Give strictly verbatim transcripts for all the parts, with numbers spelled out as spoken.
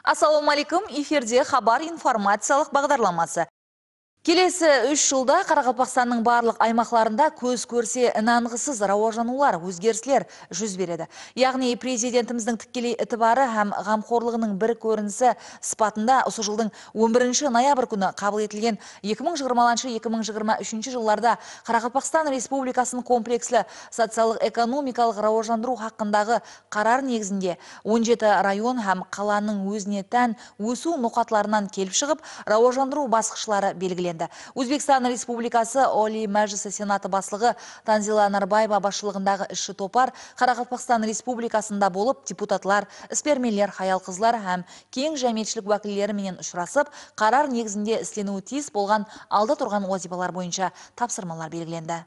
Ассалаумалейкум, эфирде хабар информациялық бағдарламасы. Келесі үш жылда Қарақалпақстанның барлық аймақларында көз көрсе нанғысыз рауажанулар, өзгеріслер жүз береді. Яғни президентіміздің тікелей ітібары һәм ғамқорлығының бір көрінісі сыпатында осы жылдың он бірінші ноябрь күні қабыл етілген екі мың жиырмасыншы - екі мың жиырма үшінші жылларда Қарақалпақстан Республикасының комплекслі социалық-экономикалық рауажандыру хақындағы қарар негізінде он жеті район һәм қаланың өзіне тән өсу ноқатларынан келіп шығып, рауажандыру басқышлары белгіленді. Өзбекстан Республикасы Олий Мәжлісі Сенаты басшылығы Танзила Нарбаева басшылығындағы іші топар Қарақалпақстан Республикасында болып, депутатлар, іспермелер, хаялқызлар һәм кең жәмиетшілік уәкілдері менен ұшырасып, қарар негізінде істенуі тиіс болған алда тұрған вазифалар бойынша тапсырмалар белгіленді.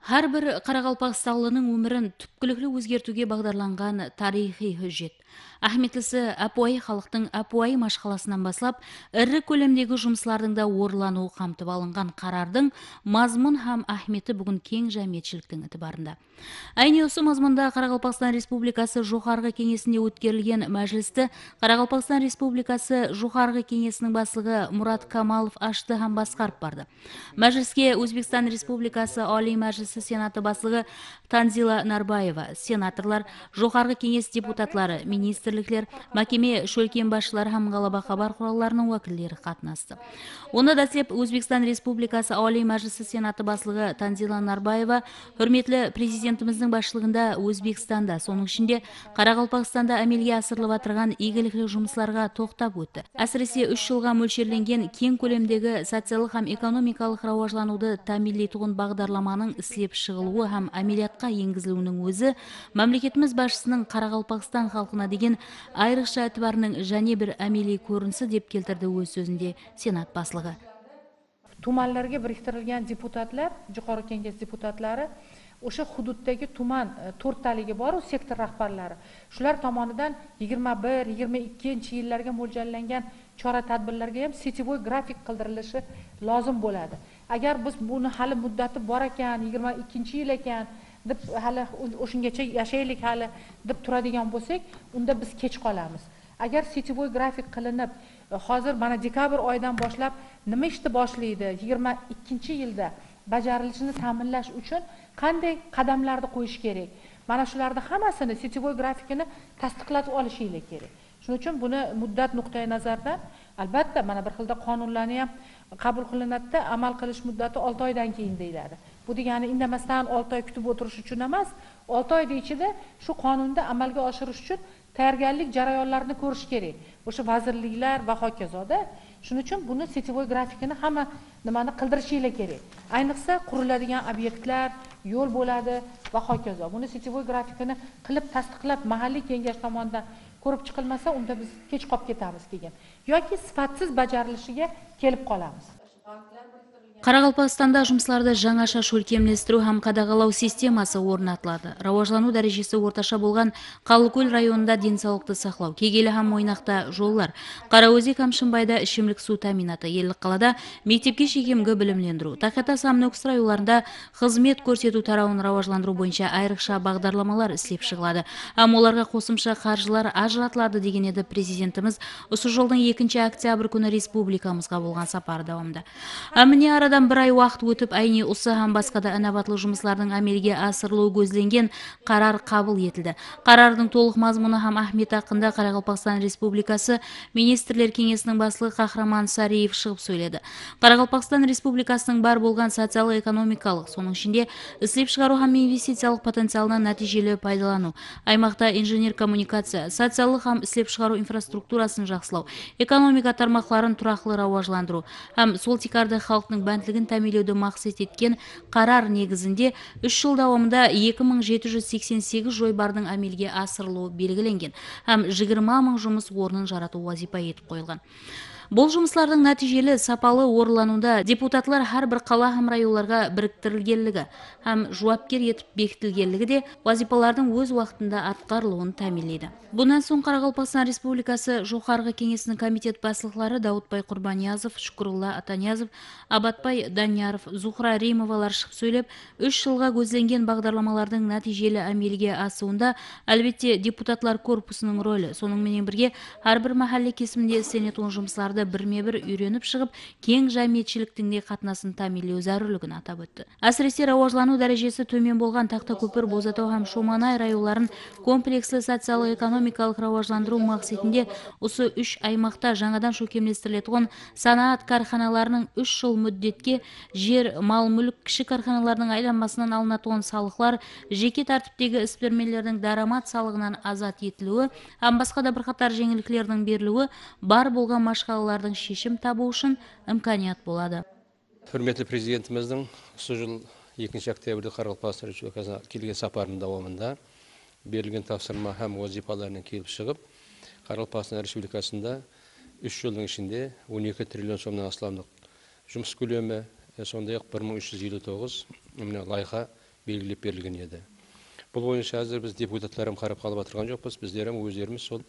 Har bir Қарақалпақстанлының өмірін түпкілікті өзгертуге бағдарланған тарихи хүжет. Ахметлісі Апуай халықтың Апуай машқаласынан баслап, ірі көлемдегі жұмыслардың да орылануы қамтып алынған қарардың мазмұн һәм ахметі бүгін кең жәмиетшіліктің ітібарында. Айне осы мазмұнда Қарақалпақстан Республикасы Жоғарғы кеңесінде өткерілген мәжілісті Қарақалпақстан Республикасы Жоғарғы кеңесінің басшылығы Мұрат Камалов ашты һәм басқарып барды. Мәжіліске Өзбекстан Республикасы Олий Мәжлісі Сенаты басшылығы Танзила Нарбаева, сенаторлар, Жоғарғы кеңес депутатлары, министрліктер, мәкеме шөлкен басшылары һәм ғалаба хабар құралдарының уәкілдері қатынасты. Оны да сеп Өзбекстан Республикасы Олий Мәжлісі Сенаты басшылығы Танзила Нарбаева hürmetli президентіміздің басшылығында Өзбекстанда, соның ішінде Қарақалпақстанда әмелге асырылып атырған игілікті жұмысларға тоқтап өтті. Әсіресе үш жылға мөлшерленген кең көлемдегі социалық һәм экономикалық рауажлануды тәмінлейтұғын бағдарламаның ісілеп шығылуы һәм әмелиятқа енгізілуінің өзі мемлекетіміз басшысының Қарақалпақстан халқына деген айрықша әтібарының және бір әмели көрінісі деп келтірді өз сөзінде Сенат басшылығы. Tumanlarga biriktirilgan deputatlar, Jo'qorg'i Kengash deputatlari o'sha hududdagi tuman to'rttaligi bor, u sektor rahbarlari. Shular tomonidan yigirma bir - yigirma ikkinchi yillarga mo'ljallangan chora-tadbirlarga ham setivoy grafik qildirilishi lozim bo'ladi. Agar biz buni hali muddati bor ekan, yigirma ikkinchi yil ekan deb hali o'shungacha yashaylik hali deb turadigan bo'lsak, unda biz kech qolamiz. Agar setivoy grafik qilinib, hozir mana dekabr oyidan boshlab nima ishni boshlaydi, yigirma ikkinchi yilda bajarilishini ta'minlash uchun qanday qadamlarni qo'yish kerak? Mana shularning hammasini setivoy grafikini tasdiqlatib olishingiz kerak. Shuning uchun buni muddat nuqtai nazaridan albatta mana bir xilda qonunlarni ham qabul qilinadi, amal qilish muddati olti oydan keyin deyiladi. Bu degani indamasdan olti oy kutib o'tirish uchun emas, olti oy ichida shu qonunda amalga oshirish uchun tayyorgarlik jarayonlarini ko'rish kerak. O'sha vazirliklar va hokazoda. Shuning uchun buni setivoy grafikini hamma nimani qildirishingiz kerak. Ayniqsa quriladigan obyektlar, yo'l bo'ladi va hokazo. Buni setivoy grafikini qilib tasdiqlab mahalliy kengash tomonidan ko'rib chiqilmasa, unda biz kech qolib ketamiz keyin. Yoki sifatsiz bajarilishiga kelib qolamiz. Қарақалпақстанда жұмысларды жаңаша шөлкемлестіру һәм қадағалау системасы орнатылады. Рауажлану дәрежесі орташа болған Қалыкөл районында денсаулықты сақлау, Кегелі һәм Мойнақта жоллар, Қараөзек һәм Шымбайда ішімлік су тәминаты, Елік қалада мектепке шекемгі білімлендіру, Тақета Самнөкс районларында қызмет көрсету тарауын рауажландыру бойынша айрықша бағдарламалар ісілеп шығылады. Һәм оларға қосымша қаржылар ажыратылады деген еді президентіміз осы жылдың екінші октябрь күні республикамызға болған сапары давамында. Әміне Арадан бір ай уақыт өтіп, айне осы һәм басқада інабатлы жұмыслардың әмелге асырылуы көзленген қарар қабыл етілді. Қарардың толық мазмұны һәм ахметі хақында Қарақалпақстан Республикасы Министрлер кеңесінің басшылығы Қахраман Сариев шығып сөйледі. Қарақалпақстан Республикасының бар болған социал-экономикалық, соның ішінде ісілеп шығару һәм инвестициялық потенциалынан нәтижелі пайдалану, аймақта инженер коммуникация, социалық һәм ісілеп шығару инфраструктурасын жақсылау, экономика тармақларын тұрақлы рауажландыру һәм сол тикарды халықтың бәнтлігін тәмелеуді мақсат еткен қарар негізінде үш жыл давамында екі мың жеті жүз сексен сегіз жойбардың әмелге асырылуы белгіленген һәм жиырма мың жұмыс орнын жарату вазипа етіп қойылған. Бұл жұмыслардың нәтижелі сапалы орылануда депутатлар һәр бір қала һәм районларға біріктірілгенлігі һәм жауапкер етіп бекітілгенлігі де вазипалардың өз уақытында атқарылуын тәмінлейді. Бұнан соң Қарақалпақстан Республикасы Жоғарғы Кеңесінің комитет басшылары Даутбай Құрбаниязов, Шүкірулла Атаниязов, Абатбай Данияров, Зухра Римовалар шығып сөйлеп, үш жылға көзленген бағдарламалардың нәтижелі әмелге асуында әлбетте депутатлар корпусының рөлі, сонымен бірге әрбір мәхәлле кесімінде істенетін жұмыстарды бірме-бір үйреніп шығып, кең жәмиетшіліктің де қатынасын тәмінлеу зәрулігін атап өтті. Әсіресе рауажлану дәрежесі төмен болған Тақтакөпір, Бозатау һәм Шоманай районларын комплекслі социалық-экономикалық рауажландыру мақсатында осы үш аймақта жаңадан шөкемлестірілетін санаат карханаларының үш жыл мүддетке жер, мал-мүлік, кіші карханалардың айланмасынан алынатын салықлар, жеке тәртіптегі іс-бермелердің дарамат салығынан азат етілуі, һәм басқа да бірқатар жеңілдіктердің берілуі бар болған машқалалардың шешім табу үшін имканият болады. Hürmetli Президентіміздің осы жыл екінші октябрьде Қарақалпақстан Республикасына келген сапарының давамында берілген тапсырма һәм вазифаларынан келіп шығып, Қарақалпақстан Республикасында үш жылдың ішінде он екі триллион сомнан астамдық жұмыс көлемі, сондай-ақ бір мың үш жүз елу тоғыз лайқа белгілеп берілген еді. Бұл бойынша әзір біз депутаттарым қарап қалып отырған жоқпыз. Біздерім өздеріміз сол,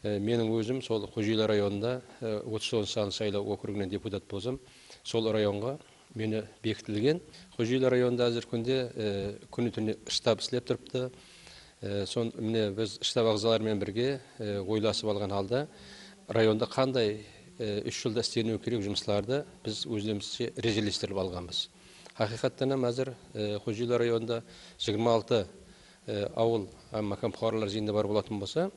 менің өзім сол Қожелі районында отыз тоғызыншы саны сайлау округінен депутат болсам, сол районға мені бекітілген. Қожелі районында әзір күнде күні түні штаб істеп тұрыпты. Сон міне біз штаб ағзаларымен бірге ойласып алған халда районда қандай үш жылда істенуі керек жұмыстарды біз өздерімізше режелестіріп алғанбыз. Хақиқаттан әзір Қожелі районында жиырма алты ауыл макам қоралар жиында бар болатын болса,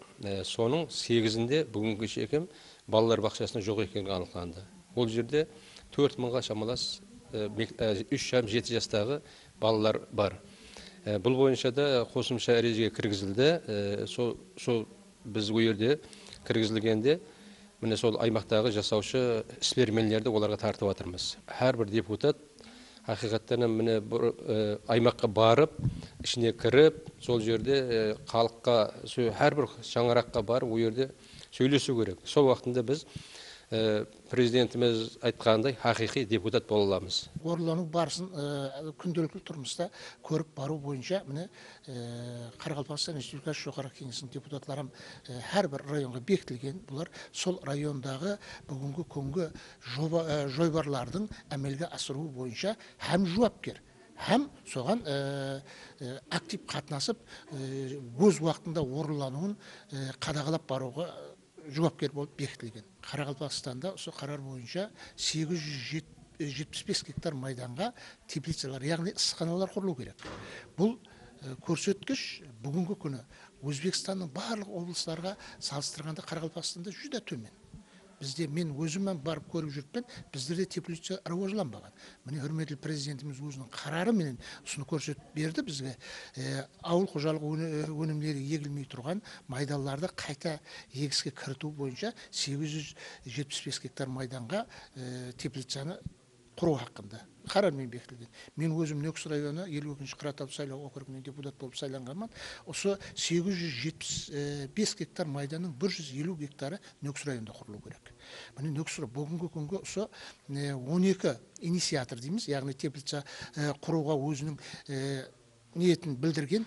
соның сегізінде бүгінгі шекем балалар бақшасында жоқ екені анықталды. Ол жерде төрт мыңға шамалас үш жастан жеті жастағы балалар бар. Бұл бойынша да қосымша ережеге кіргізілді. Сол біз ол жерде кіргізілгенде міне сол аймақтағы жасаушы іс-бермелерді оларға тартып жатырмыз. Әрбір депутат хақиқаттан міне аймаққа барып, ішіне кіріп, сол жерде халыққа, әрбір шаңыраққа барып, ол жерде сөйлесу керек. Сол уақытында біз президентіміз айтқандай хақиқи депутат бола аламыз. Орылану барысын күнделікті тұрмыста көріп бару бойынша міне Қарақалпақстан Республикасы Жоғарғы Кеңесінің депутаттарым әрбір районға бекітілген. Бұлар сол райондағы бүгінгі күнгі жойбарлардың әмелге асыру бойынша һәм жауапкер, һәм соған актив қатынасып, өз уақытында орылануын қадағалап баруға жауапкер болып бекітілген. Қарақалпақстанда осы қарар бойынша сегіз жүз жетпіс бес гектар майданға теплицалар, яғни ысықханалар құрылу керек. Бұл көрсеткіш бүгінгі күні Өзбекстанның барлық облыстарға салыстырғанда Қарақалпақстанда жүз төмен. Бізде мен өзіммен барып көріп жүріппен, біздерде теплица рауажланбаған. Міне hürmetli президентіміз өзінің қарары менен ұсыны көрсетіп берді бізге. Ауыл қожалық өнімдері егілмей тұрған майдаларды қайта егіске кірту бойынша сегіз жүз жетпіс бес гектар майданға теплицаны құру хақында қарармен бекітілген. Мен өзім Нөксі районы елу екінші Қаратау сайлау округінен депутат болып сайланғанмын. Осы сегіз жүз жетпіс бес гектар майданның бір жүз елу гектары Нөксі районында құрылу керек. Міне Нөксі бүгінгі күнгі осы он екі инициатор дейміз, яғни теплица құруға өзінің ниетін білдірген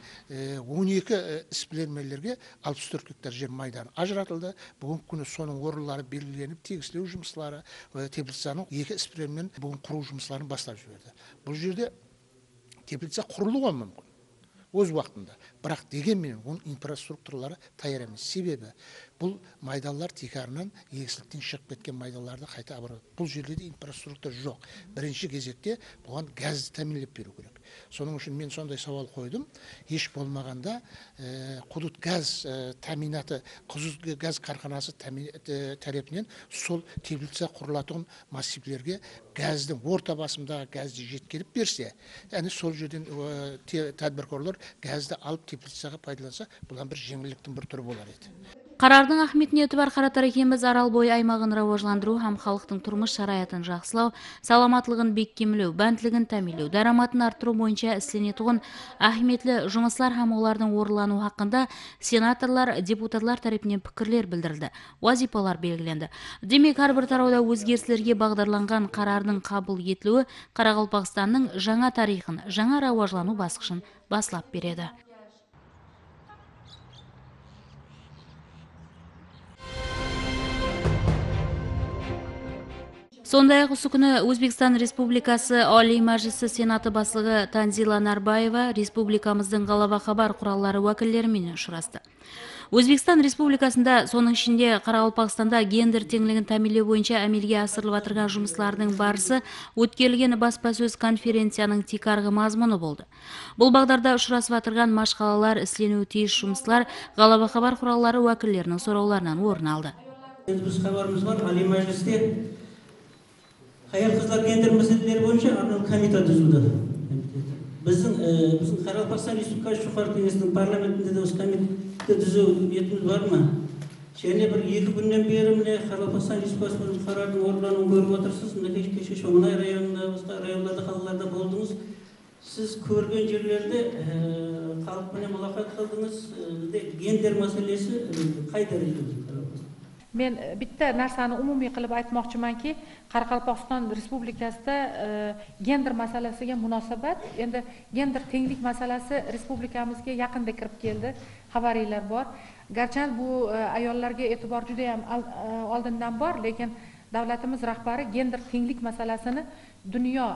он екі іс-бермелерге алпыс төрт гектар жер майдан ажыратылды. Бүгінгі күні соның орынлары белгіленіп, тегіслеу жұмыстары, теплицаның екі іс-бермелерін бүгін құру жұмыстарын бастап жіберді. Бұл жерде теплица құрылуға мүмкін өз уақытында, бірақ дегенмен оның инфраструктуралары таяр емес. Себебі бұл майдалар текарынан егістіктен шығып кеткен майдаларды қайта абырады. Бұл жерде де инфраструктура жоқ. Бірінші кезекте бұған газды тәмінлеп беру керек. Соның үшін мен сондай сауал қойдым. Еш болмағанда құдут газ тәминаты, құдут газ қарханасы тарапынан сол теплица құрылатын массивлерге газдың орта басымдағы газды жеткеріп берсе, яғни сол жерден тәдбіркорлар газды алып теплицаға пайдаланса, бұдан бір жеңілдіктің бір түрі болар еді. Қарардың ахметіне өтіп арқаратар екенбіз Аралбой аймағын рауажландыру һәм халықтың тұрмыш шараятын жақсылау, саламатлығын беккемлеу, бәнтлігін тәмилеу, дараматын арттыру бойынша ісленетұғын ахметлі жұмыслар һәм олардың орылану хақында сенаторлар, депутатлар тарапынан пікірлер білдірілді, вазипалар белгіленді. Демек, әрбір тарауда өзгерістерге бағдарланған қарардың қабыл етілуі Қарақалпақстанның жаңа тарихын, жаңа рауажлану басқышын баслап береді. Сондай-ақ осы күні Өзбекстан Республикасы Олий Мәжілісі Сенаты басылығы Танзила Нарбаева республикамыздың Ғалаба хабар құраллары уәкілдерімен ұшырасты. Өзбекстан Республикасында, соның ішінде Қарақалпақстанда гендер теңлігін тәмилеу бойынша әмелге асырылып атырған жұмыслардың барысы өткерілген баспасөз конференцияның текарғы мазмұны болды. Бұл бағдарда ұшырасып атырған машқалалар, ісленуі тиіс жұмыслар Ғалаба хабар құраллары уәкілдерінің сұрауларынан орын алды. Біз хабарымыз бар, Олий Мәжілісте аял қыздар гендер мәселелері бойынша арнайы комитет түзілді. Біздің біздің Қарақалпақстан Республикасы жоғарғы кеңесінің парламентінде де осы комитет түзу ниетіміз бар ма? Және бір екі күннен бері міне Қарақалпақстан Республикасының қарардың орындалуын көріп отырсыз. Міне кеше Шоңғынай районында, басқа райондарда, қалаларда болдыңыз. Сіз көрген жерлерде халықпен мұлақат қылдыңыз. Гендер мәселесі қай дәрежеде? Men bitta narsani umumiy qilib aytmoqchimanki, Qoraqalpog'iston Respublikasida gender masalasiga munosabat, endi gender tenglik masalasi respublikamizga yaqinda kirib keldi. Xabaringlar bor. Garchi bu ayollarga e'tibor juda ham oldindan bor, lekin davlatimiz rahbari gender tenglik masalasini dunyo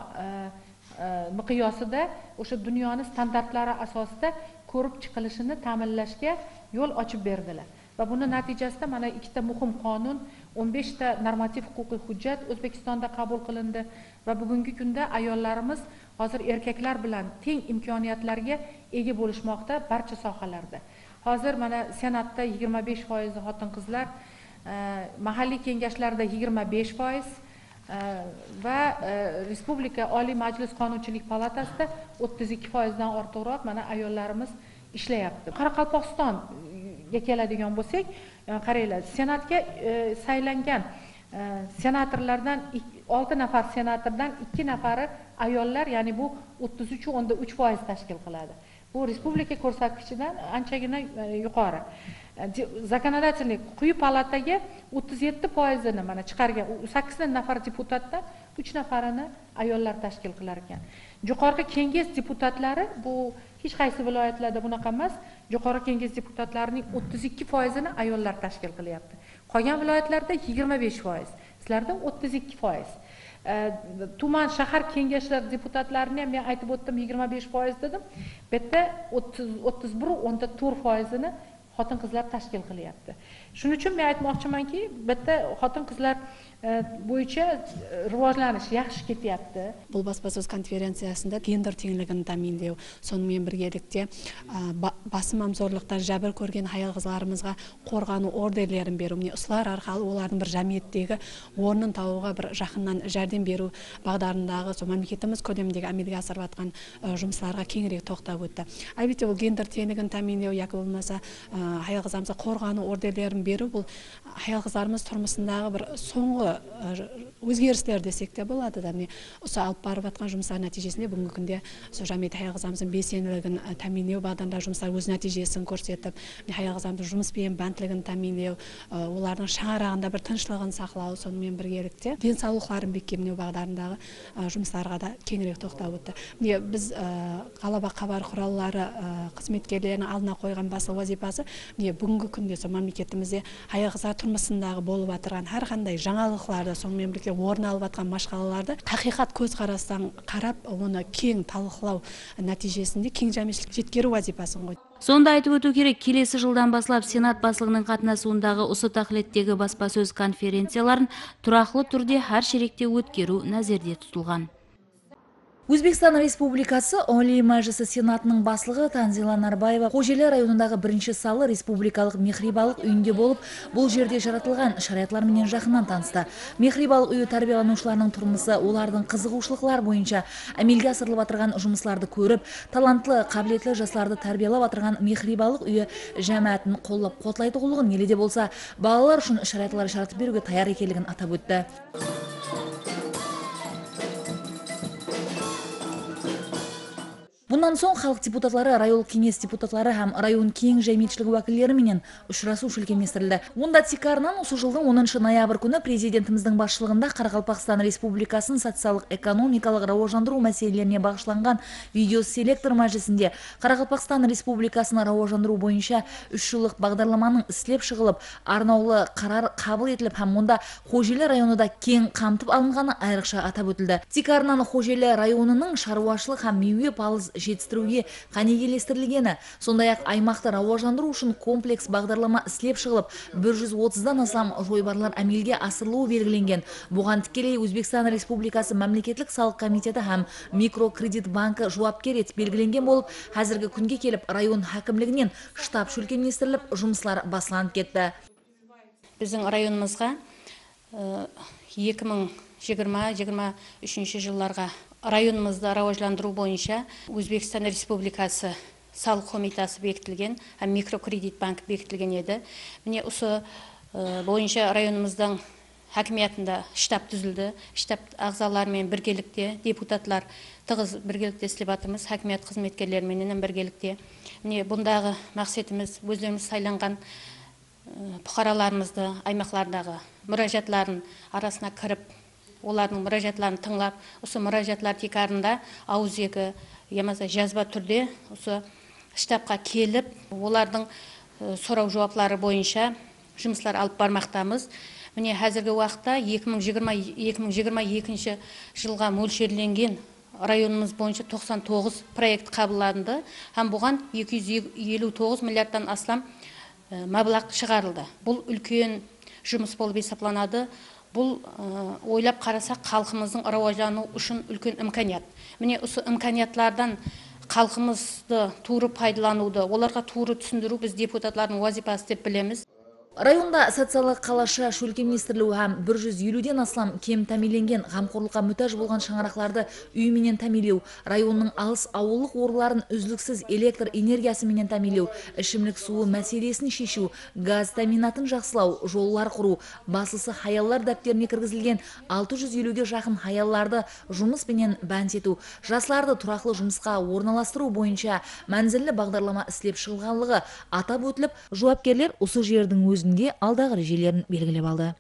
miqyosida, o'sha dunyoning standartlari asosida ko'rib chiqilishini ta'minlashga yo'l ochib berdilar. Va buni natijasida mana ikkita muhim qonun, o'n beshta normativ huquqiy hujjat O'zbekistonda qabul qilindi va bugungi kunda ayollarimiz hozir erkaklar bilan teng imkoniyatlarga ega bo'lishmoqda barcha sohalarda. Hozir mana Senatda yigirma besh foiz xotin-qizlar, mahalliy kengashlarda yigirma besh foiz va Respublika Oliy Majlis Qonunchilik palatasida o'ttiz ikki foizdan ortiqroq mana ayollarimiz ishlayapti. Qoraqalpog'iston ga keladigan bo'lsak, qaranglar, senatga saylangan senatorlardan olti nafar senatordan ikki nafari ayollar, ya'ni bu o'ttiz uch o'nda uch foiz tashkil qiladi. Bu respublika ko'rsatkichidan anchagina yuqori. Zakonodательный quyi palataga o'ttiz yetti foizini mana chiqargan sakkiz nafar deputatdan uch nafarini ayollar tashkil qilar ekan. Yuqorgi kengash deputatlari bu hech qaysi viloyatlarda bunaqa emas. Yuqori kengash deputatlarining o'ttiz ikki foizini ayollar tashkil qilyapti. Qolgan viloyatlarda yigirma besh foiz, sizlarda o'ttiz ikki foiz. Tuman shahar kengashlar deputatlarini ham men aytib o'tdim yigirma besh foiz dedim. Bu yerda o'ttiz bir o'nda to'rt foizini xotin-qizlar tashkil qilyapti. Shuning uchun men aytmoqchimanki, bu yerda xotin-qizlar bo'yicha rivojlanish yaxshi ketyapti. Бұл баспасөз конференциясында гендер теңлігін тәминлеу, сонымен біргелікте басым зорлықтан жәбір көрген аял қызларымызға қорғану ордерлерін беру, міне осылар арқылы олардың бір жамиеттегі орнын табуға бір жақыннан жәрдем беру бағдарындағы сол мемлекетіміз көлеміндегі әмелге асырып жатқан жұмыстарға кеңірек тоқтап өтті. Әлбетте бұл гендер теңлігін тәминлеу яки болмаса аял қыздарымызға қорғану ордерлерін беру, бұл аял қыздарымыз тұрмысындағы бір соңғы өзгерістер десек те болады да. Осы алып барып жатқан жұмыстар нәтижесінде бүгінгі күнде жамиет аял қыздарымыздың белсенділігін тәминлеу бағдарында жұмыстар өз нәтижесін көрсетіп, аял қыздарымыздың жұмыспен бәнтлігін тәминлеу, олардың шаңырағында бір тыныштығын сақлау, сонымен біргелікте денсаулықтарын бекемдеу бағдарындағы жұмыстарға да кеңірек тоқтап өтті. Біз Ғалаба хабар құраллары қызметкерлерінің алдына қойған басты вазифасы бүгінгі күнде мемлекетімізде аял қыздар тұрмысындағы болып жатырған әрқандай жаңалықтарды, сонымен бірге орын алып жатқан машқалаларды хақиқат көзқарастан қарап, оны кең талқылау нәтижесінде кең жемістілік жеткеру вазифасын қойды. Сонда айтып өту керек, келесі жылдан басылап Сенат басылығының қатынасуындағы осы тақылеттегі баспасөз конференцияларын тұрақлы түрде әр шеректе өткеру нәзерде тұтылған. Өзбекстан Республикасы Олий Мәжлісі Сенатының басшылығы Танзила Нарбаева Қожелі районындағы бірінші салы республикалық мехрибалық үйінде болып, бұл жерде жаратылған шариғатлармен жақыннан танысты. Мехрибалық үйі тәрбиеланушыларының тұрмысы, олардың қызығушылықтар бойынша әмелге асырылып отырған жұмысларды көріп, талантлы, қабілетлі жастарды тәрбиелеп отырған мехрибалық үйі жәмәтін қолдап қуатлайтұғылығын еледе болса, балалар үшін шариғатлар жаратып беруге таяр екенлігін атап өтті. Бұндан соң халық депутатлары, район кеңес депутатлары һәм район кең жәйметшілігі уәкілдері менен ұшырасу шүлкеместірілді. Онда Тикарынан осы жылдың оныншы ноябрь күні президентіміздің басшылығында Қарақалпақстан Республикасын социалдық экономикалық рауажандыру мәселелеріне бағышланған видеоселектор мәжілісінде Қарақалпақстан Республикасын рауажандыру бойынша үш жылдық бағдарламаның істеліп шығылып, арнаулы қарар қабыл етіліп, һәм онда Қожелі районында кең қамтып алынғаны айрықша атап өтілді. Тикарынан Қожелі районының шаруашылық һәм мейуе палыз жетістіруге қанегелестірілгені, сондай-ақ аймақты рауажандыру үшін комплекс бағдарлама істеліп шығылып, бір жүз отыздан астам жойбарлар әмелге асырылуы белгіленген. Бұған тікелей Өзбекстан Республикасы мемлекеттік салық комитеті һәм микрокредит банкі жауапкер етіп белгіленген болып, қазіргі күнге келіп район хакімлігінен штаб шүлкеместіріліп, жұмыслар басыланып кетті. Біздің районымызға екі мың жиырма жиырма үшінші жылларға районымызды рауажландыру бойынша Өзбекстан Республикасы салық комитасы бекітілген, һәм микрокредит банк бекітілген еді. Міне осы бойынша районымыздың хакимиятында штаб түзілді. Штаб ағзаларымен біргелікте, депутатлар тығыз біргелікте істеп жатырмыз, хакимият қызметкерлерімен біргелікте. Міне бұндағы мақсатымыз өздеріміз сайланған бұқараларымызды, аймақлардағы мұражатларын арасына кіріп, олардың мұражатларын тыңлап, осы мұражатлар Тикарында ауызекі, ямаса жазба түрде осы штабқа келіп, олардың сұрау жауаплары бойынша жұмыслар алып бармақтамыз. Міне қазіргі уақытта екі мың жиырма екінші жылға мөлшерленген районымыз бойынша тоқсан тоғыз проект қабылданды, һәм бұған екі жүз елу тоғыз миллиардтан астам мабылақ шығарылды. Бұл үлкен жұмыс болып есептелінеді. Бұл ойлап қарасақ халқымыздың рауаждану үшін үлкен имканият. Міне осы имканиятлардан халқымызды туры пайдалануды, оларға туры түсіндіру біз депутатлардың вазипасы деп білеміз. Районда социалдық қалаша шөлкеместірілуі һәм бір жүз елуден астам кем тәмеленген ғамқорлыққа мүтаж болған шаңырақларды үйменен тәмелеу, районның алыс ауылық орларын үзліксіз электр энергиясымен тәмелеу, ішімлік суы мәселесін шешу, газ тәминатын жақсылау, жоллар құру, басылсы хаяллар дәптеріне кіргізілген алты жүз елуге жақын хаялларды жұмыспенен бәнтету, жастарды тұрақлы жұмысқа орналастыру бойынша мәнзілі бағдарлама істеп шығылғанлығы атап өтіліп, жауапкерлер осы жердің өзінде алдағы режелерін белгілеп алды.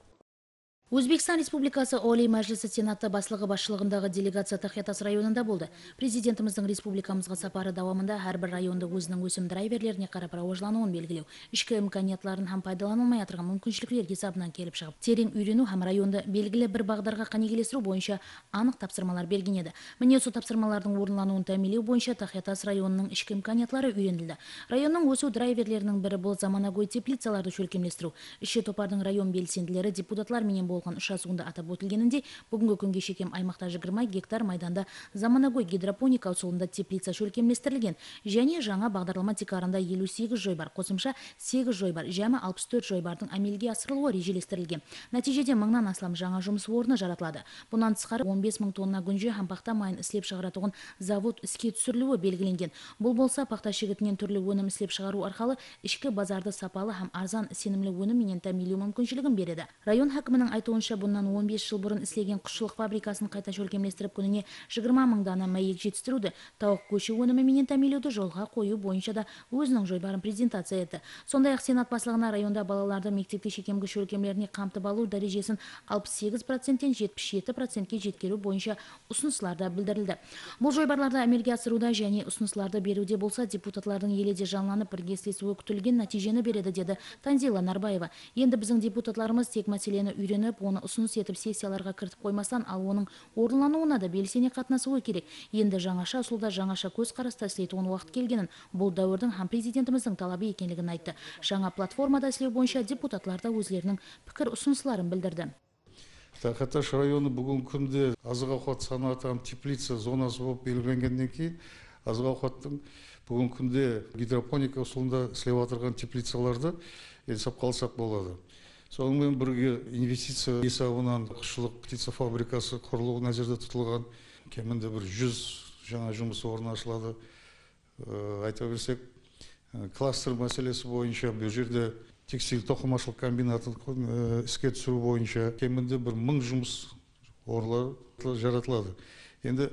Өзбекстан Республикасы Олий Мәжлісі Сенаты басшылығы басшылығындағы делегация Тахетас районында болды. Президентіміздің республикамызға сапары давамында әрбір районды өзінің өсім драйверлеріне қарап рауажлануын белгілеу, ішкі имканиятларын һәм пайдаланылмай отырған мүмкіншіліктер есебінен келіп шығып, терең үйрену һәм районды белгілі бір бағдарға қанегелестіру бойынша анық тапсырмалар берген еді. Міне осы тапсырмалардың орындалуын тәмелеу бойынша Тахетас районының ішкі имканиятлары үйренілді. Районның өсу драйверлерінің бірі бұл заманауи теплицаларды шөлкемлестіру. Іші топардың район белсенділері депутатлар менен болған ұшасуында атап өтілгенінде, бүгінгі күнге шекем аймақта жиырма гектар майданда заманауи гидропоника усулында теплица шөлкемлестірілген, және жаңа бағдарлама Тикарында елу сегіз жойбар, қосымша сегіз жойбар, жәмі алпыс төрт жойбардың әмелге асырылуы режелестірілген. Нәтижеде мыңнан астам жаңа жұмыс орны жаратылады. Бұнан тысқары он бес мың тонна гүнже һәм пақта майын істеп шығаратуын завод іске түсірілуі белгіленген. Бұл болса, пақта шегітінен түрлі өнім істеп шығару арқылы ішкі базарды сапалы һәм арзан сенімлі өніммен тәмелеу мүмкіншілігін береді. Район хакімінің айтуынша, бұнан он бес жыл бұрын істелген құсшылық фабрикасын қайта шөлкемлестіріп, күніне жиырма мың дана мәйек жетістіруді, тауық көші өнімімен тәмелеуді жолға қою бойынша да өзінің жойбарын презентация етті. Сондай-ақ Сенат басшылығына районда балаларды мектепте шекемгі шөлкемлеріне қамтып алу дәрежесін алпыс сегіз проценттен жетпіс жеті процентке жеткеру бойынша ұсыныстар білдірілді. Бұл жойбарларды әмелге асыруда және ұсыныстарды беруде болса, депутатлардың еледе жанланып бірге істесуі күтілген нәтижені береді, деді Танзила Нарбаева. Енді біздің депутатларымыз тек мәселені үйреніп, оны ұсыныс етіп сессияларға кіртіп қоймастан, ал оның орынлануына да белсене қатынасуы керек. Енді жаңаша ұсулда жаңаша көз қараста істейтін уақыт келгенін, бұл дәуірдің һәм президентіміздің талабы екенлігін айтты. Жаңа платформада істеу бойынша депутатлар да өздерінің пікір ұсыныстарын білдірді. Тахаташ районы бүгінгі күнде азық ауқат санатының теплица зонасы болып белгіленгеннен кейін азық ауқаттың бүгінгі күнде гидропоника ұсылында істеп отырған теплицаларды есеп қалсақ болады. Сонымен бірге инвестиция есебінен құсшылық птица фабрикасы құрылуы назарда тұтылған, кемінде бір жүз жаңа жұмыс орны ашылады. Айта берсек, кластер мәселесі бойынша бұл жерде текстиль тоқымашылық комбинатын іске түсіру бойынша кемінде бір мың жұмыс орны жаратылады. Енді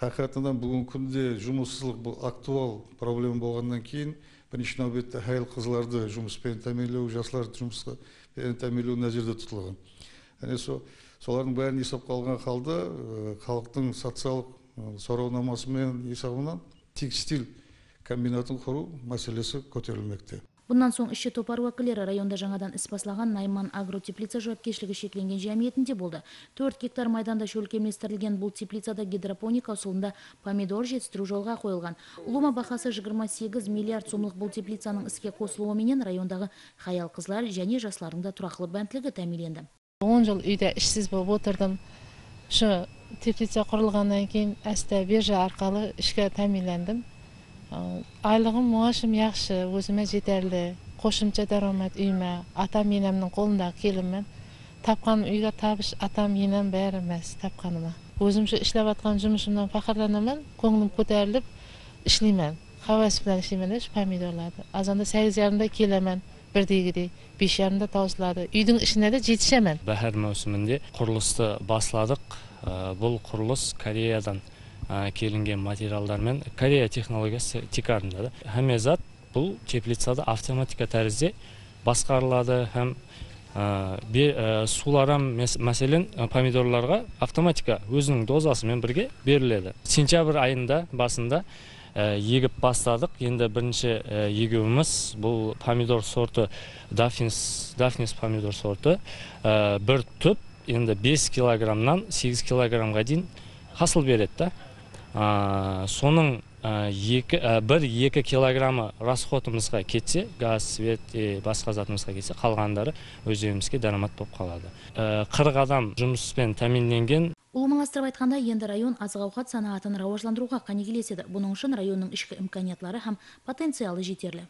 хақиқатынан бүгінгі күнде жұмыссыздық бұл актуал проблема болғаннан кейін бірінші нәубетте әйел қызларды жұмыспен тәмінлеу, жастарды жұмыспен тәмінлеу назарда тұтылған. Яғни солардың бәрін есепке алған халда халықтың социалдық сауалнамасымен есебінен текстиль комбинатын құру мәселесі көтерілмекте. Бұнан соң іші топар уәкілері районда жаңадан іс басылаған Найман агротеплица жауапкершілігі шекленген жәмиетінде болды. төрт гектар майданда шөлкемлестірілген бұл теплицада гидропоника ұсылында помидор жетістіру жолға қойылған. Ұлыма бақасы жиырма сегіз миллиард сомлық бұл теплицаның іске қосылуыменен райондағы хаял қызлар және жастардың да тұрақлы бәнтлігі тәмиленді. он жыл үйде ішсіз болып отырдым. Шы теплица құрылғаннан кейін әсті биржа арқалы ішке тәмилендім. Айлығым мұғашым яқшы, өзіме жетерлі, қошымша дарамат үйме, атам енемнің қолындағы келіммен. Тапқан үйге табыш атам енем бәрі мәз тапқаныма. Өзімші ішлеп атқан жұмысымнан фақырланамын, көңілім көтеріліп ішлеймен. Хавас білән ішлеймен үш помидорларды. Азанда сегіз ярымда келемен, бірдегідей, беш ярымда таусылады. Үйдің ішіне де жетішемен. Бәхір маусымында құрылысты басладық. Бұл құрылыс Кореядан келінген материалдармен Корея технологиясы тикарында. Әме зат бұл теплицада автоматика тәрізде басқарылады, һәм суларам мәселен помидорларға автоматика өзінің дозасымен бірге беріледі. Сентябрь айында басында егіп бастадық. Енді бірінші егуіміз бұл помидор сорты Дафнис, Дафнис помидор сорты. Бір түп енді бес килограммнан сегіз килограммға дейін хасыл береді. Соның бір-екі килограммы расходымызға кетсе, газ, свет, басқа затымызға кетсе, қалғандары өзімізге дарамат болып қалады. қырық адам жұмыспен тәминленген. Улумаластырып айтқанда, енді район азық-ауқат санаатын рауажландыруға қане келеседі. Бұның үшін районның ішкі имканиятлары һәм потенциалы жетерлі.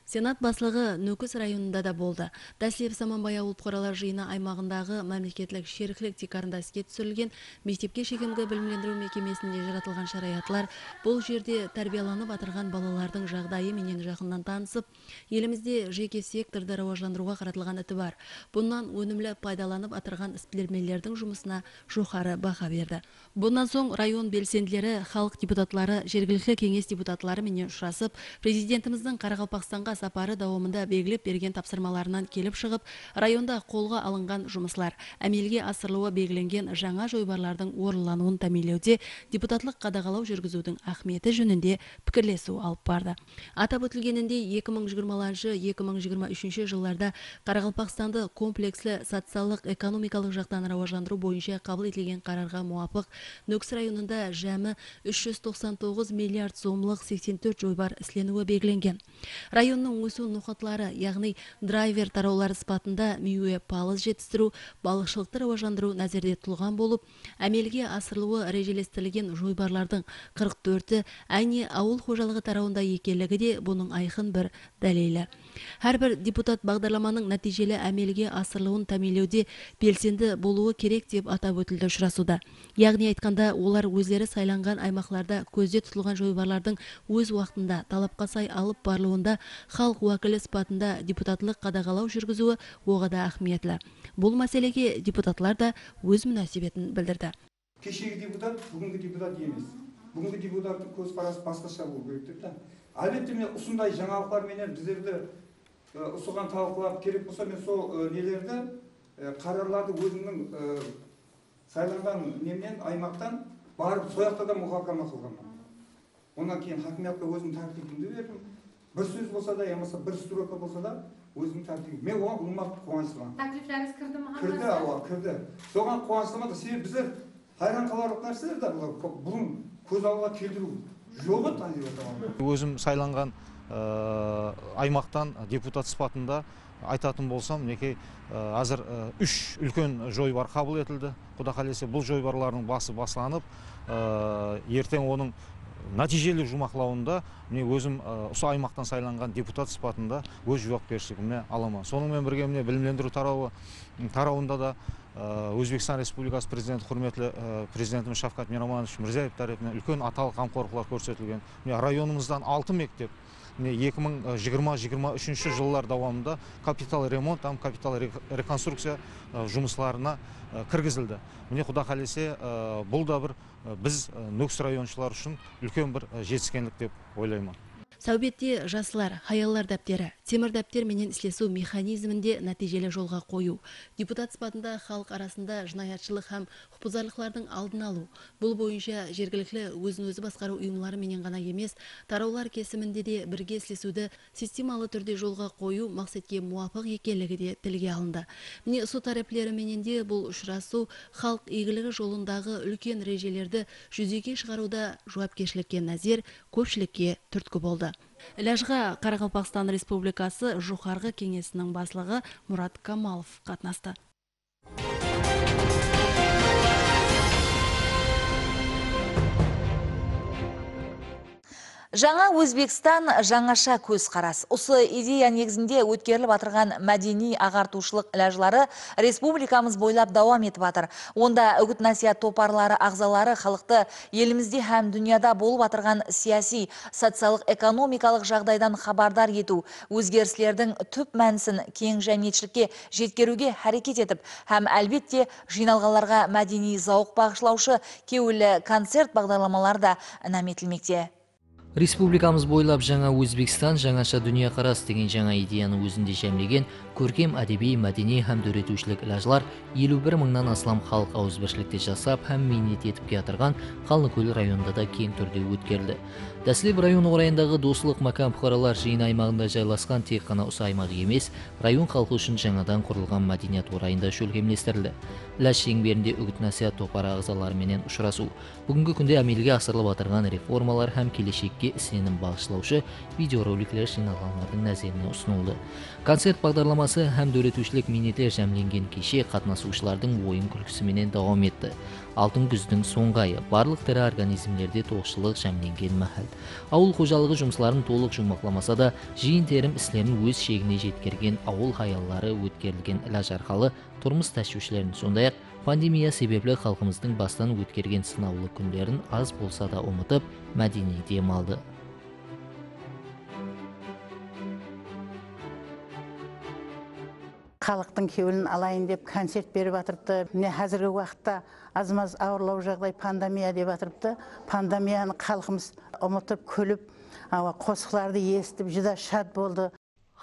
Сенат баслығы Нөкіс районында да болды. Дәслеп Саманбай ауыл қоралар жиыны аймағындағы мемлекеттік шеріклік тикарында іске түсірілген мектепке шекемгі білімлендіру мекемесінде жаратылған шараятлар бұл жерде тәрбияланып атырған балалардың жағдайы менен жақыннан танысып, елімізде жеке секторды рауажландыруға қаратылған іті бар. Бұнан өнімлі пайдаланып атырған іспілермелердің жұмысына жоғары баға берді. Бұнан соң район белсенділері, халық депутатлары, жергілікті кеңес депутатлары менен ұшырасып, президентіміздің Қарақалпақстанға сапары дауымында белгілеп берген тапсырмаларынан келіп шығып, районда қолға алынған жұмыслар, әмелге асырылуы белгіленген жаңа жойбарлардың орынлануын тәминлеуде депутатлық қадағалау жүргізудің ахметі жөнінде пікірлесу алып барды. Атап өтілгенінде екі мың жиырмаланшы - екі мың жиырма үшінші жылдарда Қарақалпақстанды комплекслі социалдық экономикалық жақтан рауажландыру бойынша қабыл етілген қарарға муафық Нөкіс районында жәмі үш жүз тоқсан тоғыз миллиард сомлық сексен төрт жойбар ісленуі белгіленген. Районның өсу нұқатлары, яғни драйвер тараулары сыпатында мүйе палыз жетістіру, балықшылықты рауажландыру назарда тұтылған болып, әмелге асырылуы режелестірілген жойбарлардың қырық төрті әне ауыл қожалығы тарауында екенлігі де бұның айқын бір дәлелі. Әрбір депутат бағдарламаның нәтижелі әмелге асырылуын тәминлеуде белсенді болуы керек деп атап өтілді ұшырасуда. Яғни айтқанда, олар өздері сайланған аймақларда көзде тұтылған жойбарлардың өз уақытында талапқа сай алып барлығында халық уәкілі сыпатында депутатлық қадағалау жүргізуі оғада ахметлі. Бұл мәселеге депутатлар да өз мүнәсебетін білдірді. Кешегі депутат бүгінгі депутат емес. Бүгінгі депутаттың көзқарасы басқаша болу керек деп та. Әлбетте мен осындай жаңалықтар менен біздерді ұсынған талқылап керек болса, мен сол нелерді қарарларды өзімнің сайланған немнен аймақтан барып сояқта да мұхакама қылғанмын. Онан кейін хакимиятқа өзім тәртібімді бердім. Бір сөз болса да, ямаса бір строка болса да, өзім тәртібім. Мен оған ұлмақ қуаныштымын. Тәклифләріңіз кірді ме? Кірді, ауа, кірді. Соған қуаныштымын. Себебі біздер хайран қаларлық нәрселер де бұлар бұның көз алға келтіру жоғы таңдап отырған. Өзім сайланған аймақтан депутат сыпатында айтатын болсам, мінекей азыр үш үлкен жойбар қабыл етілді. Құда қаласа бұл жойбарлардың басы басланып, ертең оның нәтижелік жұмақлауында міне өзім осы аймақтан сайланған депутат сипатында өз жауапкершілігіме аламын. Сонымен бірге міне білімдендіру тарауы тарауында да Өзбекстан Республикасы президенті құрметлі президентіміз Шавкат Миромонович Мирзиев тарапынан үлкен аталық қамқорлықтар көрсетілген. Міне районымыздан алты мектеп екі мың жиырма жиырма үшінші жылдар давамында капитал ремонт, там капитал реконструкция жұмысларына кіргізілді. Міне Құда қаласа бұл да бір біз Нүкіс районшылар үшін үлкен бір жетіскендік деп ойлаймын. Сәубетте жасылар, хаяллар дәптері, темір дәптер менен іслесу механизмінде нәтижелі жолға қою. Депутат сипатында халық арасында жинаятшылық һәм құпызарлықлардың алдын алу. Бұл бойынша жергілікті өзін өзі басқару ұйымлары менен ғана емес, тараулар кесімінде де бірге іслесуді системалы түрде жолға қою мақсатке муафық екенлігі де тілге алынды. Міне су тараплері менен де бұл ұшырасу халық игілігі жолындағы үлкен режелерді жүзеге шығаруда жауапкершілікке назер, көпшілікке түрткі болды. Іләжға Қарақалпақстан Республикасы Жоғарғы кеңесінің басшылығы Мұрат Камалов қатынасты. Жаңа Өзбекстан жаңаша көз қарас. Осы идея негізінде өткеріліп атырған мәдени ағартушылық ләжлары республикамыз бойлап давам етіп атыр. Онда үгіт насихат топарлары ағзалары халықты елімізде һәм дүнияда болып атырған сияси, социалық, экономикалық жағдайдан хабардар ету, өзгерістердің түп мәнісін кең жәмиетшілікке жеткеруге әрекет етіп, һәм әлбетте жиналғаларға мәдени зауық бағышлаушы кеуілі концерт бағдарламаларда наметілмекте. Республикамыз бойлап жаңа Өзбекстан, жаңаша дүния қарас деген жаңа идеяны өзінде жәмлеген көркем әдеби, мәдени һәм дөретушілік ләжлар елу бір мыңнан аслам халық ауызбіршілікте жасап һәм минет етіп келатырған Қалныкөл районында да кең түрде өткерілді. Дәслеп район орайындағы дослық макам бұқаралар жиын аймағында жайласқан тек қана осы аймақ емес, район халқы үшін жаңадан құрылған мәдениет орайында шөлгемлестірілді. Ләж шеңберінде үгіт насихат топары ағзаларыменен ұшырасу. Бүгінгі күнде әмелге асырылып атырған реформалар һәм келешекке сенім бағышлаушы видеороликлер жиналғандардың назарына ұсынылды. Концерт бағдарламасы һәм дөретушілік минеттер жәмленген кеше қатынасушылардың ойын күлкісіменен давам етті. Алтын күздің соңғы айы барлық тірі организмлерде тоқшылық жәмленген мәхәл. Ауыл қожалығы жұмысларын толық жұмақламаса да, жиын терім іслерін өз шегіне жеткерген ауыл хаяллары өткерілген ләж арқалы тұрмыс тәшвишлерін, сондай-ақ пандемия себеплі халқымыздың бастан өткерген сынаулы күндерін аз болса да ұмытып, мәдени дем алды. Халықтың кеуілін алайын деп концерт беріп атырыпты. Міне қазіргі уақытта аз-маз ауырлау жағдай пандемия деп атырыпты. Пандемияны халқымыз ұмытып, күліп, қосықларды естіп, жүда шат болды.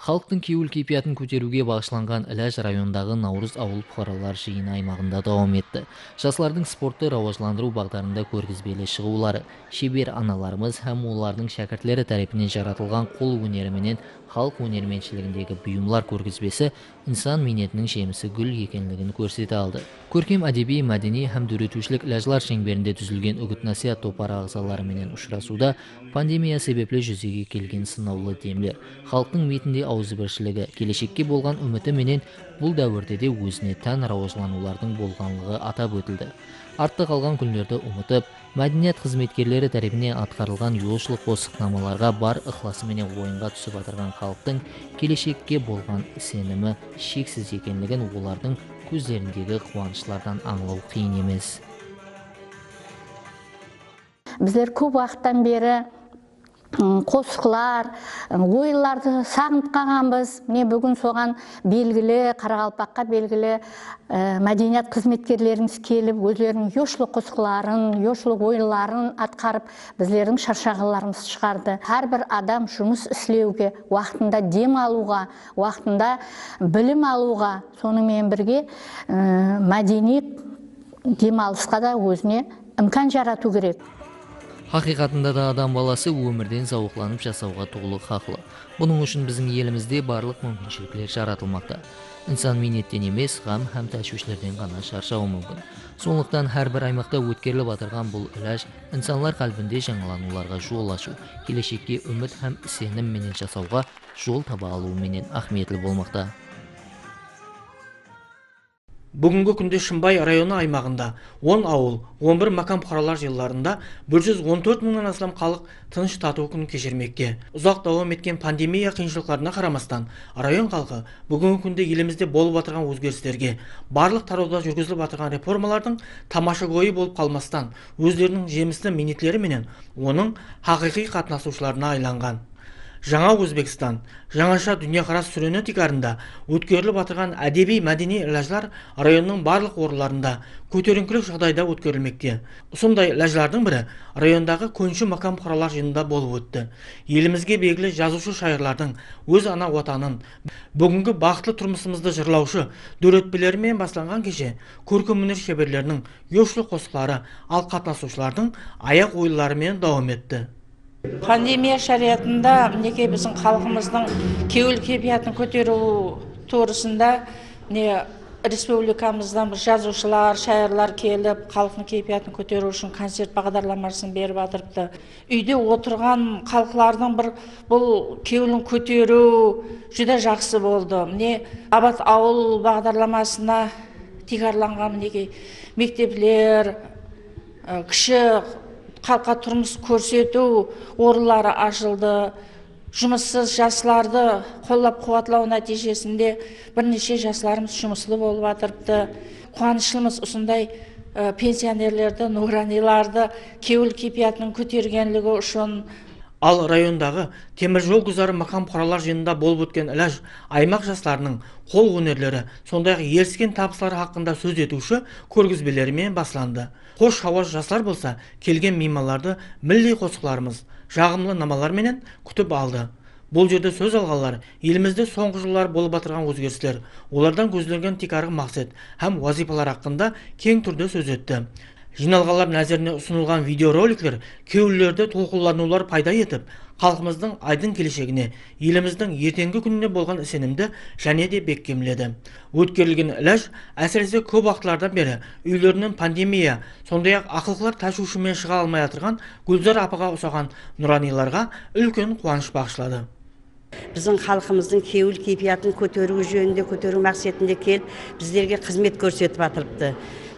Халықтың кеуіл кейпиятын көтеруге бағышланған Іләж райондағы Наурыз ауыл бұқаралар жиын аймағында давам етті. Жасылардың спортты рауажландыру бағдарында көргізбелі шығулары, шебер аналарымыз һәм олардың шәкіртлері тарапынан жаратылған қол өнеріменен халық өнерменшілігіндегі бұйымлар көргізбесі инсан минетінің жемісі гүл екенлігін көрсете алды. Көркем әдеби, мәдени һәм дөретушілік ләжлар шеңберінде түзілген үгіт насихат топары ағзаларыменен ұшырасуда пандемия себеплі жүзеге келген сынаулы демлер, халықтың метінде ауызбіршілігі, келешекке болған үміті менен бұл дәуірде де өзіне тән рауажланулардың болғанлығы атап өтілді. Артта қалған күндерді ұмытып, мәдениет қызметкерлері тарапынан атқарылған юлшылық қосықнамаларға бар ықыласыменен ойынға түсіп атырған халықтың келешекке болған сенімі шексіз екенлігін олардың көздеріндегі қуанышлардан аңлау қиын емес. Біздер көп уақыттан бері қосықлар, ойларды сағынып қалғанбыз. Міне бүгін соған белгілі, Қарақалпаққа белгілі мәдениет қызметкерлеріміз келіп, өздерінің yoshlik қосықларын, yoshlik ойларын атқарып, біздердің шаршағыларымыз шығарды. Әрбір адам жұмыс істеуге, уақытында дем алуға, уақытында білім алуға, сонымен бірге мәдени демалысқа да өзіне имкан жарату керек. Хақиқатында да адам баласы өмірден зауықланып жасауға толық хақлы. Бұның үшін біздің елімізде барлық мүмкіншіліктер жаратылмақта. Инсан минеттен емес, ғам һәм тәшвишлерден ғана шаршауы мүмкін. Сондықтан әрбір аймақта өткеріліп атырған бұл үләж инсанлар қалбінде жаңалануларға жол ашу, келешекке үміт һәм сенім менен жасауға жол таба алуы менен ахметлі болмақта. Бүгінгі күнде Шымбай районы аймағында он ауыл, он бір макам құралар жылдарында бір жүз он төрт мыңнан астам халық тыныш тату күн кешірмекте. Ұзақ давам еткен пандемия қиыншылықтарына қарамастан, район халқы бүгінгі күнде елімізде болып отырған өзгерістерге, барлық тарауда жүргізіліп отырған реформалардың тамаша ойы болып қалмастан, өздерінің жемісті минетлері менен оның хақиқи қатынасушыларына айланған. Жаңа Өзбекстан, жаңаша дүниеқарас сүрені тикарында өткеріліп атырған әдеби мәдени ләжлар районның барлық орындарында көтеріңкілік жағдайда өткерілмекте. Сондай ләжлардың бірі райондағы көнші макам құралар жиынында болып өтті. Елімізге белгілі жазушы шайырлардың өз ана отанын, бүгінгі бақытлы тұрмысымызды жырлаушы дөретпелерімен басталған кеше көркем өнер шеберлерінің еушілік қосқылары, ал қатынасушылардың аяқ ойларымен давам етті. Пандемия шариатында мінекей біздің халқымыздың кеуіл кепиятын көтеру турысында не республикамыздан бір жазушылар, шайырлар келіп, халықтың кепиятын көтеру үшін концерт бағдарламасын беріп жатырыпты. Үйде отырған халқылардың бір бұл кеуілін көтеру жүдә жақсы болды. Міне Абат ауыл бағдарламасына тигарланған мінекей мектеплер, кіші халыққа тұрмыс көрсету орынлары ашылды. Жұмыссыз жастарды қолдап қуатлау нәтижесінде бірнеше жастарымыз жұмыслы болып жатырыпты. Қуаныштымыз осындай пенсионерлерді, нураниларды кеуіл кепиятының көтергенлігі үшін. Ал райондағы темір жол гүзары мақам құралар жиынында болып өткен ләж аймақ жастарының қол өнерлері, сондай-ақ еріскен табыстары хақында сөз етуші көргізбелерімен басланды. Қош хауас жастар болса, келген меймандарды милли қосқыларымыз жағымлы намалар менен күтіп алды. Бұл жерде сөз алғандар елімізде соңғы жылдар болып жатырған өзгерістер, олардан көзделген тек арғы мақсат һәм вазифалар хақында кең түрде сөз етті. Жиналғандар назарына ұсынылған видеороликлер кеулілерді толқынланулар пайда етіп, халқымыздың айдың келешегіне, еліміздің ертеңгі күніне болған сенімді және де бекемледі. Өткерілген ләж әсіресе көп уақытлардан бері үйлерінен пандемия, сондай-ақ ақылқылар ташушымен шыға алмай отырған Гүлзар апаға ұсаған нұраниларға үлкен қуаныш бағышлады. Біздің халқымыздың кеуіл кепиятын көтеру жөнінде, көтеру мақсатында келіп, біздерге қызмет көрсетіп жатырыпты.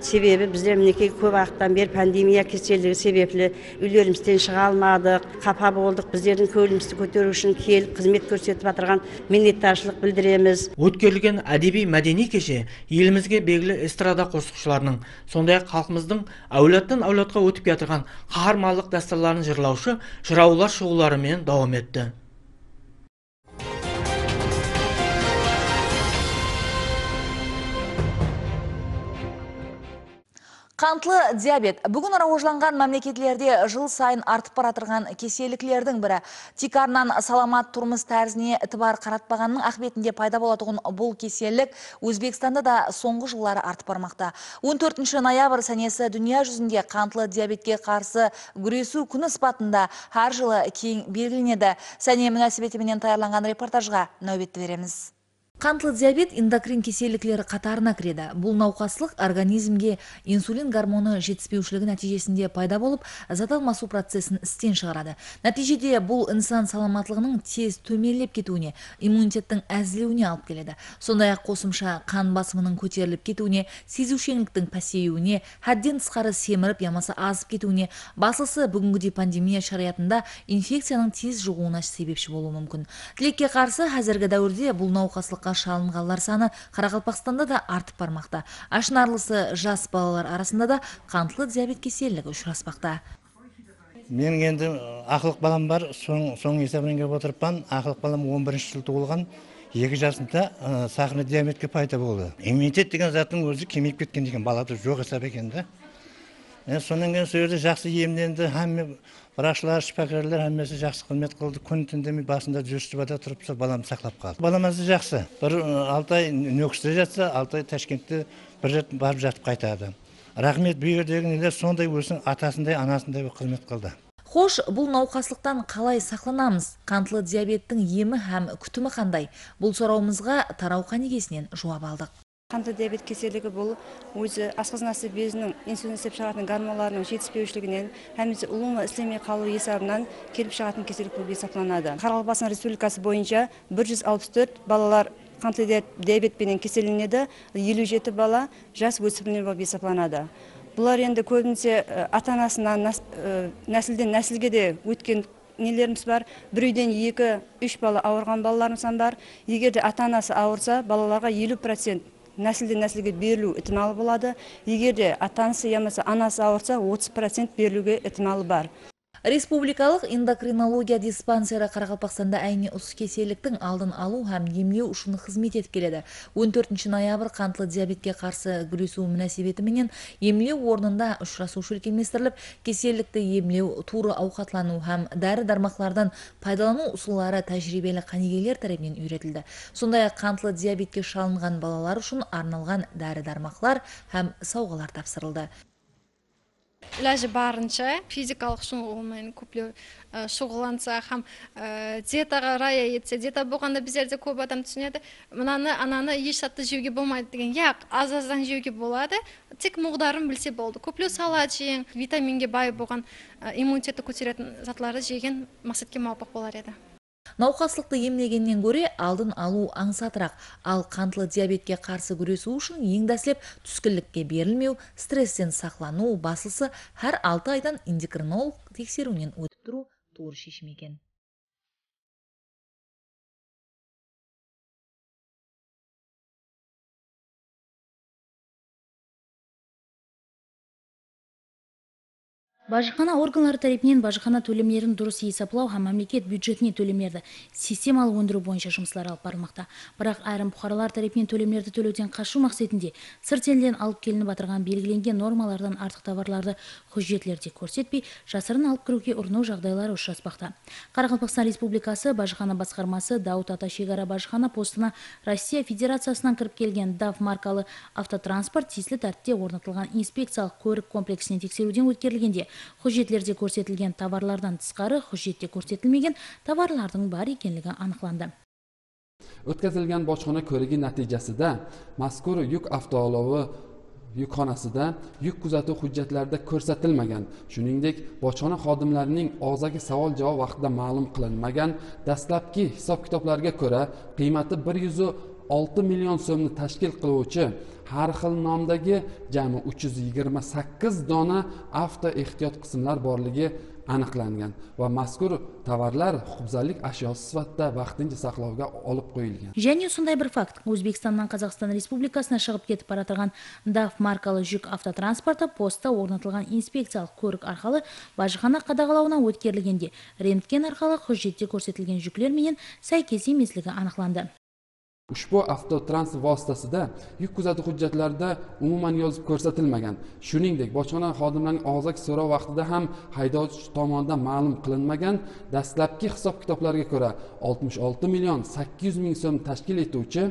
Себебі біздер мінекей көп уақыттан бері пандемия кеселігі себеплі үйлерімізден шыға алмадық, қапа болдық. Біздердің кеуілімізді көтеру үшін келіп қызмет көрсетіп жатырған миннеттаршылық білдіреміз. Өткерілген әдеби мәдени кеше елімізге белгілі эстрада қосқышыларының, сондай-ақ халқымыздың әулеттен әулетқа өтіп жатырған қаһармандық дәстүрлерін жырлаушы жыраулар шығуларымен давам етті. Қантлы диабет бүгін рауажланған мемлекетлерде жыл сайын артып баратырған кеселіклердің бірі. Тикарнан саламат тұрмыс тәрізіне ітібар қаратпағанның ақбетінде пайда болатығын бұл кеселік Өзбекстанда да соңғы жыллары артып бармақта. он төртінші ноябрь сәнесі дүния жүзінде қантлы диабетке қарсы күресу күні спатында әр жылы кең белгіленеді. Сәне мүнәсібетіменен таярланған репортажға нәубетті береміз. Қантлы диабет эндокрин кеселіклері қатарына кіреді. Бұл науқаслық организмге инсулин гормоны жетіспеушілігі нәтижесінде пайда болып, зат алмасу процесін істен шығарады. Нәтижеде бұл инсан саламатлығының тез төмендеп кетуіне, иммунитеттің әзілеуіне алып келеді. Сондай-ақ қосымша қан басымының көтеріліп кетуіне, сезушеңліктің пәсеюіне, хәдден тысқары семіріп, ямасы азып кетуіне, басылысы бүгінгідей пандемия шариатында инфекцияның тез жұғуына себепші болуы мүмкін. Тілекке қарсы қазіргі дәуірде бұл науқаслық шалынғандар саны Қарақалпақстанда да артып бармақта. Ашынарлысы жас балалар арасында да қантлы диабет кеселігі ұшыраспақта. Мен енді ақылық балам бар, соң есебінен келіп отырыппан. Ақылық балам он бірінші жыл туылған, екі жасында сахарный диабетке пайда болды. Иммунитет деген заттың өзі кемейіп кеткен деген балада жоқ есеп екен да. Сонан кейін сол жерде жақсы емленді, һәм врачлар, шипакерлер әммесі жақсы қызмет қылды. Күн түндемей басында жүрістібада тұрып, балам сақлап қалды. Баламызды жақсы. Бір алты ай нөкісте жатса, алты ай Ташкентте бір рет барып жатып қайтады. Рахмет, бұл жердегі нелер сондай өзінің атасындай, анасындай қызмет қылды. Хош, бұл науқаслықтан қалай сақланамыз? Қантлы диабеттің емі һәм күтімі қандай? Бұл сұрауымызға Тарауқа негесінен жауап алдық. Қантлы диабет кеселігі бұл өзі асқазанасы безінің инсулин істеп шығатын гормондардың жетіспеушілігінен һәмесе ұлума істемей қалу есебінен келіп шығатын кеселік болып есептелінеді. Қарақалпақстан Республикасы бойынша бір жүз алпыс төрт балалар қантты диабетпенен кеселленеді, елу жеті бала жас өспірімдер болып есептелінеді. Бұлар енді көбінесе ата-анасынан нәсілден нәсілге де өткен нелеріміз бар. Бір үйден екі, үш бала ауырған балаларымыз бар. Егер де ата-анасы ауырса, балаларға елу процент нәсілден нәсілге берілу ықтималы болады. Егер де ата-анасы ямаса анасы ауырса, отыз процент берілуге ықтималы бар. Республикалық эндокринология диспансері Қарақалпақстанда әйне ұс кеселіктің алдын алу һәм емлеу үшін қызмет етіп келеді. он төртінші ноябрь қантлы диабетке қарсы күресу мünәсебетіменен емлеу орнында ұшырасушы үлкенместіріліп, кеселікті емлеу, туры ауқатлану һәм дәрі-дармақлардан пайдалану ұсулары тәжірибелі қанегейлер тарапынан үйретілді. Сондай-ақ қантлы диабетке шалынған балалар үшін арналған дәрі-дармақлар һәм сауғалар тапсырылды. Иләжі барынша физикалық шұғылмен көплеу шұғыланса, һәм диетаға рая етсе, диета болғанда біздерде көп адам түсінеді, мынаны, ананы еш сәтті жеуге болмайды деген. Яқ, аз-аздан жеуге болады, тек мұғдарын білсе болды. Көплеу салат жеген, витаминге бай болған, иммунитетті көтеретін затлары жеген мақсатке мауапық болар еді. Науқаслықты емлегеннен көре алдын алу аңсатырақ, ал қантлы диабетке қарсы күресу үшін ең дәслеп түскілікке берілмеу, стресстен сақлану, басылсы әр алты айдан эндокринолог тексеруінен өтіп тұру туыр шешім екен. Бажықана органлары тарапынан бажықана төлемдерін дұрыс есептеу һәм мемлекет бюджетіне төлемдерді системалы өндіру бойынша жұмыстар алып барылмақта. Бірақ айрым бұқаралар тарапынан төлемдерді төлеуден қашу мақсатында сырт елден алып келініп отырған белгіленген нормалардан артық товарларды хұжетлерде көрсетпей, жасырын алып кіруге ұрыну жағдайлары ұшыраспақта. Қарақалпақстан Республикасы Бажықана басқармасы Дауыт Ата шекара Бажықана постына Россия Федерациясынан кіріп келген даф маркалы автотранспорт тиісті тәртіпте орнатылған инспекциялық көрік комплексінен тексеруден өткерілгенде хұжетлерде көрсетілген товарлардан тысқары хұжетте көрсетілмеген товарлардың бар екенлігі анықталды. O'tkazilgan bojxona ko'rigi natijasida mazkur yuk avtoolovi yukxonasida yuk kuzatuv hujjatlarida ko'rsatilmagan, shuningdek bojxona xodimlarining og'zaki savol-javob vaqtida ma'lum qilinmagan dastlabki hisob-kitoblarga ko'ra qiymati bir yuz olti million so'mni tashkil qiluvchi har xil nomdagi jami uch yuz yigirma sakkiz dona avto ehtiyot qismlar borligi aniqlangan va mazkur tovarlar huquqbuzarlik ashyosi sifatida vaqtincha saqlovga olib qo'yilgan. Және сондай бір факт, Өзбекстаннан Қазақстан Республикасына шығып кетіп бара жатқан даф маркалы жүк автотранспорты поста орнатылған инспекциялық көрік арқылы бажықана қадағалауына өткерілгенде рентген арқылы хұжетте көрсетілген жүклер менен сәйкес емеслігі анықталды. Ushbu avtotransport vositasida yuk kuzatuv hujjatlarida umuman yozib ko'rsatilmagan. Shuningdek, bojxona xodimlarining og'zaki so'rov vaqtida ham haydovchi tomonidan ma'lum qilinmagan dastlabki hisob-kitoblarga ko'ra oltmish olti million sakkiz yuz ming so'm tashkil etuvchi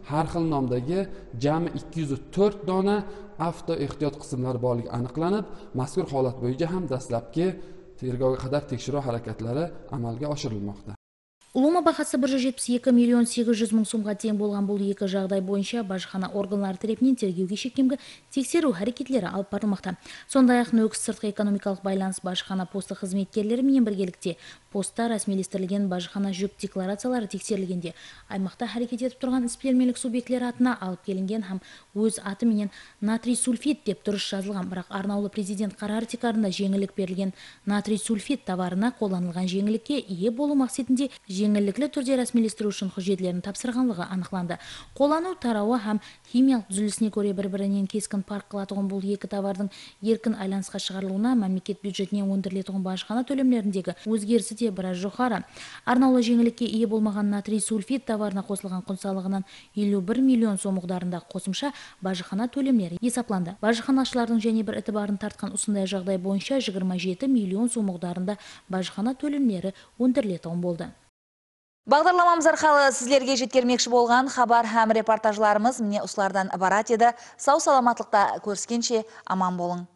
har xil nomdagi jami ikki yuz to'rt dona avto ehtiyot qismlari borligi aniqlanib, mazkur holat bo'yicha ham dastlabki tergovga qadar tekshiruv harakatlari amalga oshirilmoqda. Улума бағасы bir жүз жетпіс екі миллион сегіз жүз мың сомға тең болған бұл екі жағдай бойынша бажықана органлары тарапынан тергеуге шекемгі тексеру әрекетлері алып барылмақта. Сондай-ақ нөкіс сыртқы экономикалық байланыс бажықана посты қызметкерлері менен біргелікте поста рәсмилестірілген бажықана жүк декларациялары тексерілгенде аймақта әрекет етіп тұрған іспелмелік субъектілер атына алып келінген һәм өз аты менен натрий сульфид деп дұрыс жазылған, бірақ арнаулы президент қарары тикарында жеңілік берілген натрий сульфид товарына қолданылған жеңілікке ие болу мақсатында жеңілдіклі түрде рәсмилестіру үшін хұжетлерін тапсырғанлығы анықталды. Қолану тарауы һәм химиялық түзілісіне көре бір-бірінен кескін парк қылатығын бұл екі товардың еркін айланысқа шығарылуына мемлекет бюджетіне өндірілетіғын бажықана төлемлеріндегі өзгерісі де біраз жоғары. Арнаулы жеңілікке ие болмаған натрий сульфид товарына қосылған құн салығынан елу бір миллион сом миқдарында қосымша бажықана төлемлері есептелді. Бажықанашылардың және бір ітібарын тартқан осындай жағдай бойынша жиырма жеті миллион сом миқдарында бажықана төлемлері өндірілетіғын болды. Бағдарламамыз арқылы сіздерге жеткермекші болған хабар һәм репортажларымыз міне осылардан ібарат еді. Сау саламатлықта көріскенше аман болың.